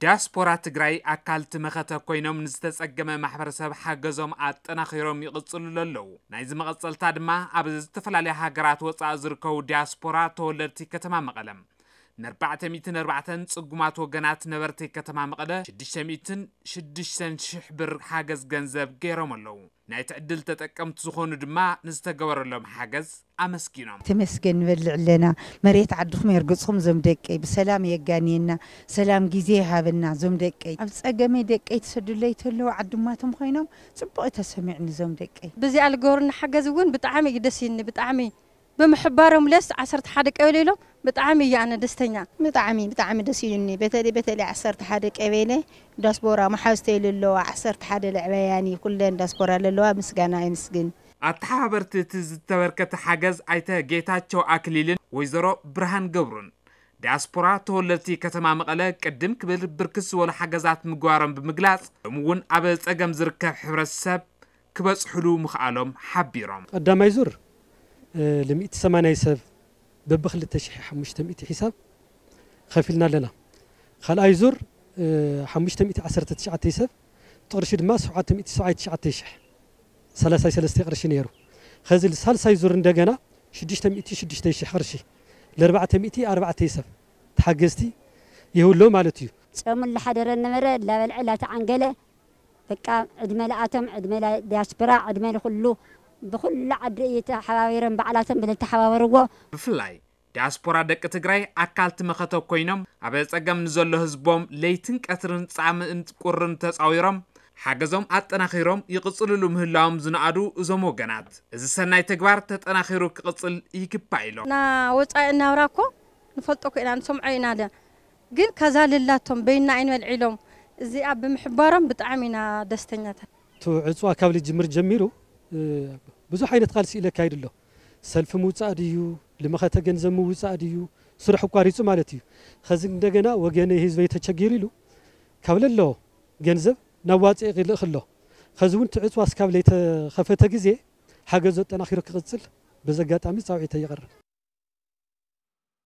ዲያስፖራ ትግራይ ኣካል እቲ መኸተ ኮይኖም ንዝተጸገመ ማሕበረሰብ ሓገዞም ኣጠናኺሮም ይቕጽሉ ኣለዉ። ናይዚ መቐጸልታ ድማ ኣብ ዝተፈላለያ ሃገራት ወጻኢ ዝርከቡ ዲያስፖራ ተወለድቲ ከተማ መቐለ ንኣርባዕተ ሚእትን ኣርባዕተን ጽጉማት ወገናት ነበርቲ ከተማ መቐለ ሽዱሽተ ሚእትን ሽዱሽተን ሽሕ ብር ሓገዝ ገንዘብ ገይሮም ኣለዉ። ናይቲ ዕድል ተጠቀምቲ ዝኾኑ ድማ ንዝተገበረሎም ሓገዝ ኣመስጊኖም። ተመስገን ንበልዕ ኣለና። መሬት ዓድኹም የርግጽኹም ዞም ደቀይ። ብሰላም የጋንየና። ሰላም ግዜ ይሃበና ዞም ደቀይ። ኣብ ጸገመይ ደቀይ ትሰዱለይ ተለዉ ዓድማቶም ኮይኖም ጽቡቕ እዩ ተሰሚዕኒ ዞም ደቀይ። ብዚኣ ልገሩና ሓገዝ እውን ብጣዕሚ እዩ ደስ ይኒ ብጣዕሚ ብምሕባሮም ለስ ዓሰርተ ሓደ ቀበሌ ኢሎም ብጣዕሚ እየ ኣነ ደስተኛ። ብጣዕሚ ብጣዕሚ ደስ ኢሉኒ። በተለይ በተለይ ዓሰርተ ሓደ ቀበሌ ዳስቦራ መሓዝተይ ለለዋ ዓሰርተ ሓደ ለዕበያኒ ኩለን ዳስቦራ ለለዋ ምስጋና የምስግን። ኣተሓባበርቲ እቲ ዝተበርከተ ሓገዝ ኣይተ ጌታቸው ኣክሊልን ወይዘሮ ብርሃን ገብሩን ዲያስፖራ ተወለድቲ ከተማ መቐለ ቅድም ክብል ብርክት ዝበሉ ሓገዛት ምግባሮም ብምግላፅ ሎም እውን ኣብ ፀገም ዝርከብ ሕብረተሰብ ክበፅሕሉ ምኽኣሎም ሓቢሮም። ቀዳማይ ዙር እ፣ ል ሚእቲ ሰማንያ ሰብ በብክልተ ሽሕ ሓሙሽተ ሚእቲ ሒሳብ ከፊልና ኣለና። ካልኣይ ዙር እ፣ ሓሙሽተ ሚእቲ ዓሰርተ ትሽዓተ ሰብ ጥቕርሺ ድማ ሸውዓተ ሚእቲ ሰብዓይ ትሽዓተ ሽሕ ሰላሳይ ሰለስተ ቅርሺ ነይሩ። ኸዚ ሳልሳይ ዙር እንደገና ሽዱሽተ ሚእቲ ሽዱሽተ ሽሕ ቅርሺ ለኣርባዕተ ሚእቲ ኣርባዕተ ሰብ ተሓገዝቲ ይህውሎ ማለት እዩ። ጸሙ ላሓደረ ነበረ ላበልዐ ላተዓንገለ በቃ ዕድመ ለኣቶም ዕድመ ዲያስፖራ ዕድመ ልኩሉ ብኩሉ ዓዲ እዩ ተሓባቢሮም ባዕላቶም ብልተሓባበርዎ። ብፍላይ ዲያስፖራ ደቂ ትግራይ ኣካል ትመኸተ ኮይኖም ኣብ ጸገም ንዘሎ ህዝቦም ለይትን ቀትርን ጻምእን ቁርን ተጻዊሮም ሓገዞም ኣጠናኺሮም ይቕጽልሉ ምህላዎም ዝነኣዱ እዞም ወገናት እዚ ሰናይ ተግባር ተጠናኺሩ ክቕጽል ይግባእ ኢሎም። ና ወጻኢ እናብራ እኮ ንፈልጦ እኮ ኢና ንሰምዖ ኢና ለ ግን ከዛ ልላቶም በይና ኣይንበልዕ ኢሎም እዚኣ ብምሕባሮም ብጣዕሚ ኢና ደስተኛታት። እቲ ዕፅዋ ካብ ልጅምር ጀሚሩ ብዙሕ ዓይነት ቃልሲ ኢለ ኣካይዱ ኣሎ። ሰልፊ ምውፃእ ድዩ፣ ልመኸተ ገንዘብ ምውፃእ ድዩ፣ ስርሑ ኣቋሪፁ ማለት እዩ። ኸዚ እንደገና ወገነይ ህዝበይ ተቸጊሩ ኢሉ ካብ ለለዎ ገንዘብ ናዋፅእ ይልእኽ ኣሎ። ኸዚ እውን እቲ ዕፅዋ እስካብ ለይተኸፈተ ግዜ ሓገዙ ኣጠናኺሩ ክቕፅል በዚ ኣጋጣሚ ፃውዒተይ የቕርብ።